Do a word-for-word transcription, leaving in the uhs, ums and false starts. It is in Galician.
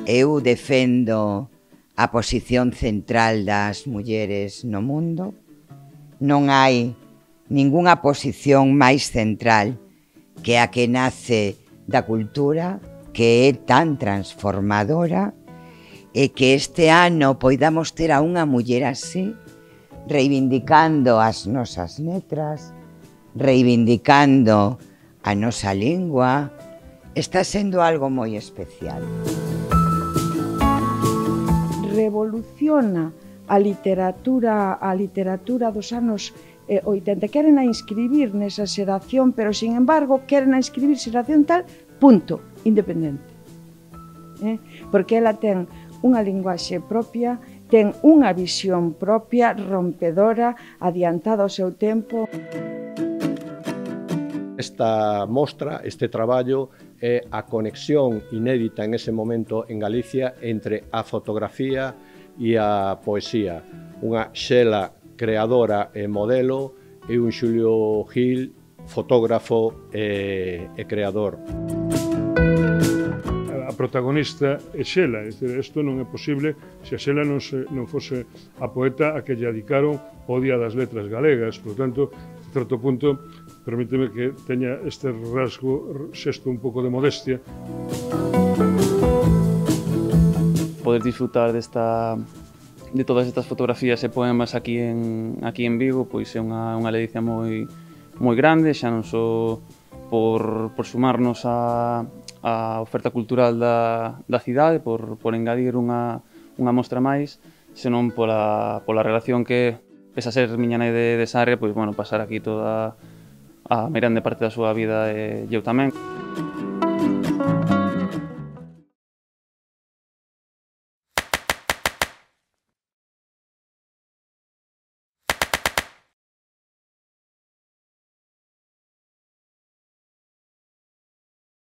Eu defendo a posición central das mulleres no mundo. Non hai ningunha posición máis central que a que nace da cultura, que é tan transformadora, e que este ano poidamos ter a unha muller así, reivindicando as nosas letras, reivindicando a nosa lingua, está sendo algo moi especial. Revoluciona a literatura, a literatura dos anos eh, oitenta. Queren a inscribir nesa xeración, pero, sin embargo, queren a inscribir xeración tal, punto, independente. Eh? Porque ela ten unha linguaxe propia, ten unha visión propia, rompedora, adiantada ao seu tempo. Esta mostra, este traballo, é a conexión inédita en ese momento en Galicia entre a fotografía e a poesía. Unha Xela creadora e modelo e un Xulio Gil fotógrafo e, e creador. A protagonista é Xela, isto non é posible se a Xela non, se, non fose a poeta a que lle dedicaron o Día das Letras Galegas. Por tanto, a certo punto, permíteme que teña este rasgo, xesto un pouco de modestia. Poder disfrutar desta, de todas estas fotografías e poemas aquí en, aquí en Vigo, pois é unha, unha ledicia moi, moi grande, xa non só por, por sumarnos a, a oferta cultural da, da cidade, por, por engadir unha, unha mostra máis, senón pola, pola relación que, pese a ser miña nai de, de Sarria, pois, bueno, pasar aquí toda a grande parte da súa vida e eu tamén.